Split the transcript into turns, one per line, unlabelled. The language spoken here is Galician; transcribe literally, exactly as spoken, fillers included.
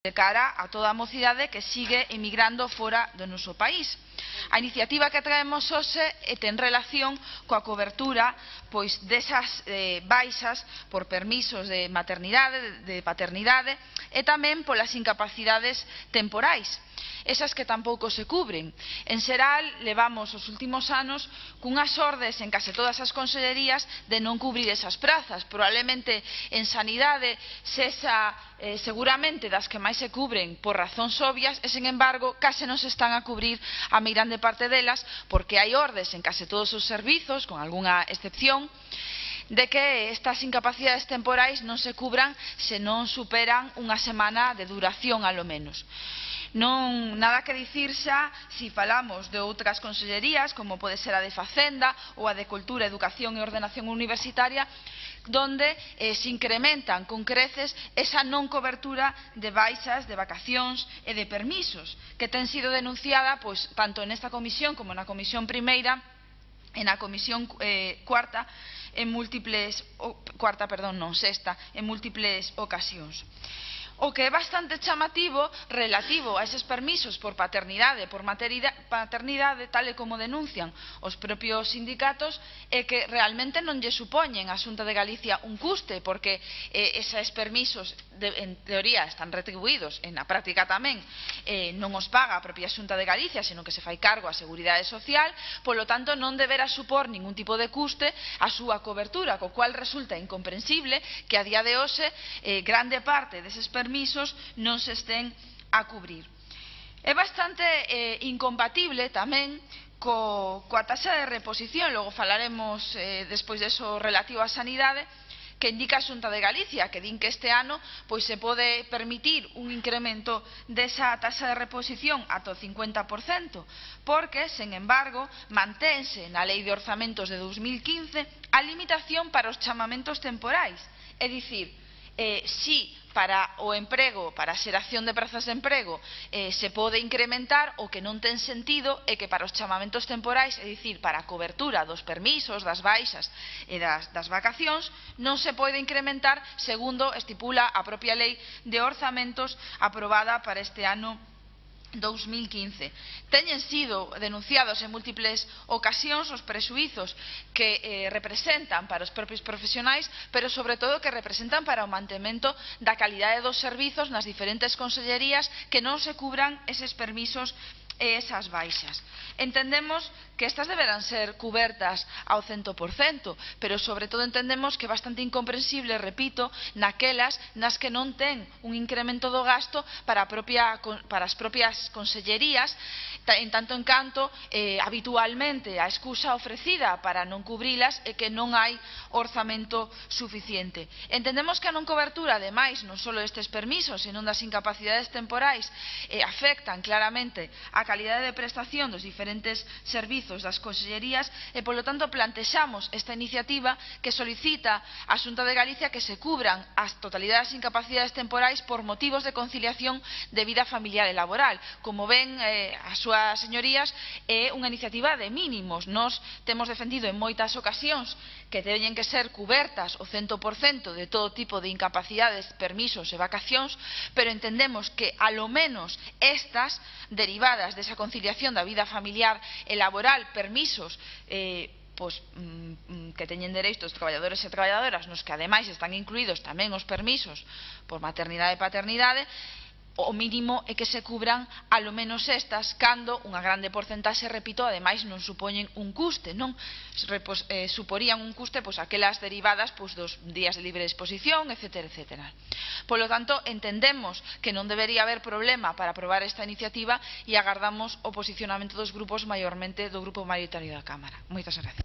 de cara a toda a mocidade que sigue emigrando fora do noso país. A iniciativa que traemos hoxe ten relación coa cobertura pois desas eh, baixas por permisos de maternidade, de paternidade e tamén polas incapacidades temporais, esas que tampouco se cubren. En xeral, levamos os últimos anos cunhas ordes en case todas as consellerías de non cubrir esas prazas. Probablemente en sanidade sexa eh, seguramente das que máis se cubren por razóns obvias e, sen embargo, case non se están a cubrir a meirande parte delas porque hai ordes en case todos os servizos, con algunha excepción, de que estas incapacidades temporais non se cubran se non superan unha semana de duración, alo menos. Non nada que dicir xa se falamos de outras consellerías, como pode ser a de Facenda ou a de Cultura, Educación e Ordenación Universitaria, donde eh, se incrementan con creces esa non cobertura de baixas, de vacacións e de permisos, que ten sido denunciada pois, tanto nesta comisión como na comisión primeira e na comisión eh, cuarta, en múltiples, oh, cuarta, perdón, non, sexta, en múltiples ocasións. O que é bastante chamativo relativo a eses permisos por paternidade e por paternidade, tal e como denuncian os propios sindicatos, é que realmente non lle supoñen a Xunta de Galicia un custe, porque eh, eses permisos de, en teoría están retribuídos, en a práctica tamén eh, non os paga a propia Xunta de Galicia, senón que se fai cargo a Seguridade Social, polo tanto non deberá supor ningún tipo de custe a súa cobertura, co cual resulta incomprensible que a día de hoxe eh, grande parte deses permisos permisos non se estén a cubrir. É bastante eh, incompatible tamén co, coa taxa de reposición, logo falaremos eh, despois deso relativo á sanidade, que indica a Xunta de Galicia, que din que este ano pois se pode permitir un incremento desa taxa de reposición ata o cincuenta por cento, porque, sen embargo, mantense na Lei de Orzamentos de dous mil quince a limitación para os chamamentos temporais, é dicir, eh, si para o emprego, para a xeración de prazas de emprego eh, se pode incrementar, o que non ten sentido é que para os chamamentos temporais, é dicir, para a cobertura dos permisos, das baixas e das, das vacacións, non se pode incrementar segundo estipula a propia lei de orzamentos aprobada para este ano dous mil quince. Teñen sido denunciados en múltiples ocasións os prexuízos que eh, representan para os propios profesionais, pero sobre todo que representan para o mantemento da calidade dos servizos nas diferentes consellerías, que non se cubran eses permisos e esas baixas. Entendemos que estas deberán ser cubertas ao cento por cento, pero sobre todo entendemos que é bastante incomprensible, repito, naquelas nas que non ten un incremento do gasto para, a propia, para as propias consellerías, en tanto en canto eh, habitualmente a excusa ofrecida para non cubrilas é que non hai orzamento suficiente. Entendemos que a non cobertura, ademais, non só estes permisos, senón das incapacidades temporais, eh, afectan claramente a calidade de prestación dos diferentes servizos das consellerías e, polo tanto, plantexamos esta iniciativa que solicita á Xunta de Galicia que se cubran as totalidade das incapacidades temporais por motivos de conciliación de vida familiar e laboral. Como ven, eh, as súas señorías, é unha iniciativa de mínimos. Nós temos defendido en moitas ocasións que teñen que ser cubertas o cento por cento de todo tipo de incapacidades, permisos e vacacións, pero entendemos que, alo menos, estas, derivadas desa conciliación da vida familiar e laboral, permisos eh, pois, mm, que teñen dereito os traballadores e traballadoras, nos que ademais están incluídos tamén os permisos por maternidade e paternidade, o mínimo é que se cubran alo menos estas, cando unha grande porcentaxe, repito, ademais non supoñen un custe, non Repos, eh, suporían un custe pois aquelas derivadas pois dos días de libre disposición, etcétera, etcétera. Polo tanto, entendemos que non debería haber problema para aprobar esta iniciativa e agardamos o posicionamento dos grupos, maiormente do grupo maioritario da Cámara. Moitas gracias.